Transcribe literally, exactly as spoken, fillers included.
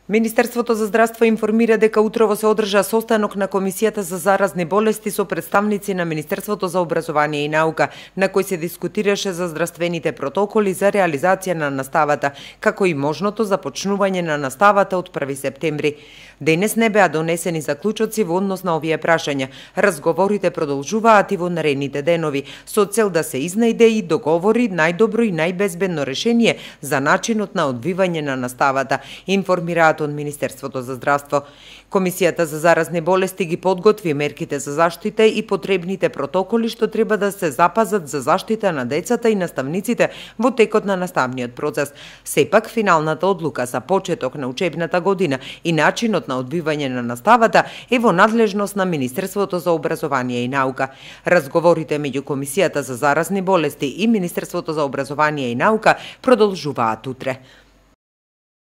Министерството за здравство информира дека утрово се одржа состанок на Комисијата за заразни болести со представници на Министерството за образование и наука, на кој се дискутираше за здравствените протоколи за реализација на наставата, како и можното започнување на наставата од први септември. Денес не беа донесени заклучоци во однос на овие прашања. Разговорите продолжуваат и во наредните денови, со цел да се изнајде и договори најдобро и најбезбедно решение за начинот на одвивање на наставата, информираат од Министерството за здравство. Комисијата за заразни болести ги подготви мерките за заштита и потребните протоколи што треба да се запазат за заштита на децата и наставниците во текот на наставниот процес. Сепак, финалната одлука за почеток на учебната година и начинот на одбивање на наставата е во надлежност на Министерството за образование и наука. Разговорите меѓу Комисијата за заразни болести и Министерството за образование и наука продолжуваат утре.